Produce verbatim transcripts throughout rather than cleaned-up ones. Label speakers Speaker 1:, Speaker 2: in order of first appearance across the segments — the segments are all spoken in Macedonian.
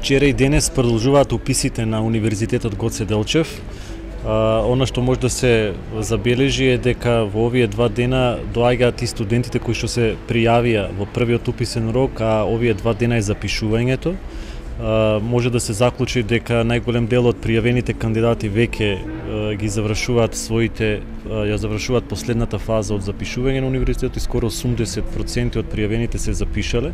Speaker 1: Вчера и денес продолжуваат уписите на Универзитетот Гоце Делчев. А, она што може да се забележи е дека во овие два дена доаѓаат и студентите кои што се пријавија во првиот уписен рок, а овие два дена е запишувањето. Uh, може да се заклучи дека најголем дел од пријавените кандидати веќе uh, ги завршуваат своите, uh, ја завршуваат последната фаза од запишување на универзитетот и скоро осумдесет проценти од пријавените се запишале.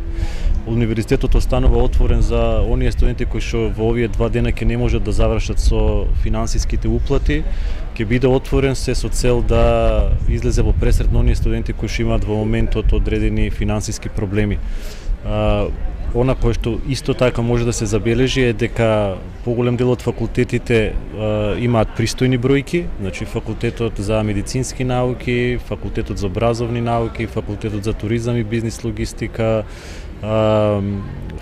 Speaker 1: Универзитетот останува отворен за оние студенти кои што во овие два дена ќе не можат да завршат со финансиските уплати, ќе биде отворен се со цел да излезе во пресред на оние студенти кои што имаат во моментот одредени финансиски проблеми. Uh, Она кое што исто така може да се забележи е дека поголем дел од факултетите е, имаат пристојни бројки, значи факултетот за медицински науки, факултетот за образовни науки, факултетот за туризам и бизнис логистика, е,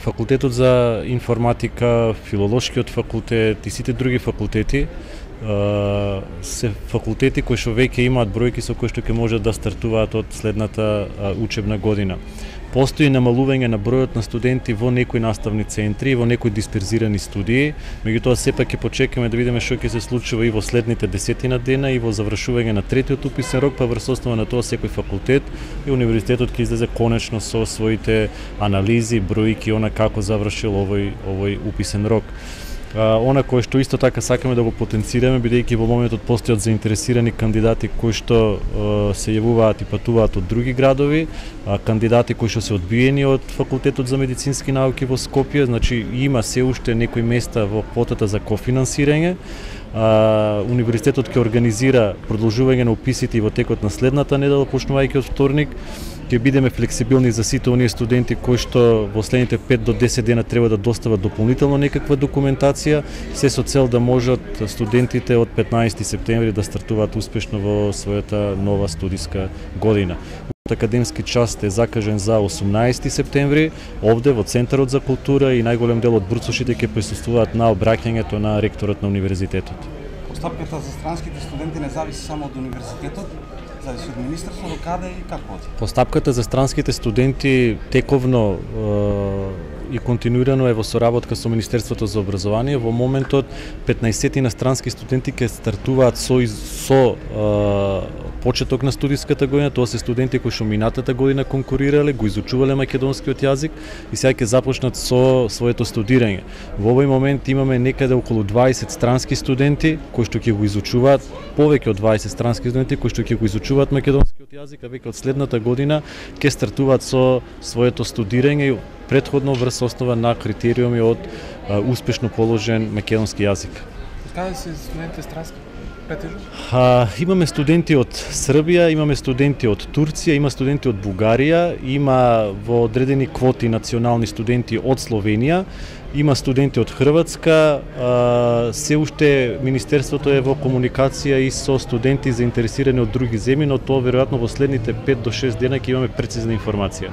Speaker 1: факултетот за информатика, филолошкиот факултет и сите други факултети е, се факултети кои што веќе имаат бројки со кои што ќе можат да стартуваат од следната е, учебна година. Постои намалување на бројот на студенти во некои наставни центри, во некои дисперзирани студии, меѓутоа сепак ќе почекаме да видиме што ќе се случува и во следните десетина дена и во завршување на третиот уписен рок, па врз основа на тоа секој факултет и универзитетот ќе излезе конечно со своите анализи, бројки, она како завршил овој овој уписен рок. Uh, она кое што исто така сакаме да го потенцираме, бидејќи во моментот постојат заинтересирани кандидати кои што uh, се јавуваат и патуваат од други градови, uh, кандидати кои што се одбиени од Факултетот за медицински науки во Скопје, значи има се уште некои места во квотата за кофинансирање. Uh, универзитетот ќе организира продолжување на уписите и во текот на следната недела, почнувајќи од вторник. Ќе бидеме флексибилни за сите оние студенти кои што во следните пет до десет дена треба да достават дополнително некаква документација, се со цел да можат студентите од петнаесети септември да стартуваат успешно во својата нова студиска година. Академски час е закажен за осумнаесети септември, овде во Центарот за култура и најголем дел од бурсошите ќе присуствуваат на обраќањето на ректорот на универзитетот.
Speaker 2: Постапката за странските студенти не зависи само од универзитетот, зависи од министерството, до каде и како оди?
Speaker 1: Постапката за странските студенти тековно е, и континуирано е во соработка со Министерството за образование. Во моментот петнаесет странски студенти ќе стартуваат со, со е, почеток на студиската година. Тоа се студенти кои што минатата година конкурирале, го изучувале македонскиот јазик и сега ќе започнат со своето студирање. Во овој момент имаме некаде околу дваесет странски студенти кои што ќе го изучуваат, повеќе од дваесет странски студенти кои што ќе го изучуваат македонскиот јазик, а веќе од следната година ќе стартуваат со своето студирање претходно врз основа на критериуми од а, успешно положен македонски јазик.
Speaker 2: Каде се студентите странски?
Speaker 1: А, имаме студенти од Србија, имаме студенти од Турција, има студенти од Бугарија, има во одредени квоти национални студенти од Словенија, има студенти од Хрватска, а, се уште Министерството е во комуникација и со студенти заинтересирани од други земји, но тоа веројатно во следните пет до шест дена ќе имаме прецизна информација.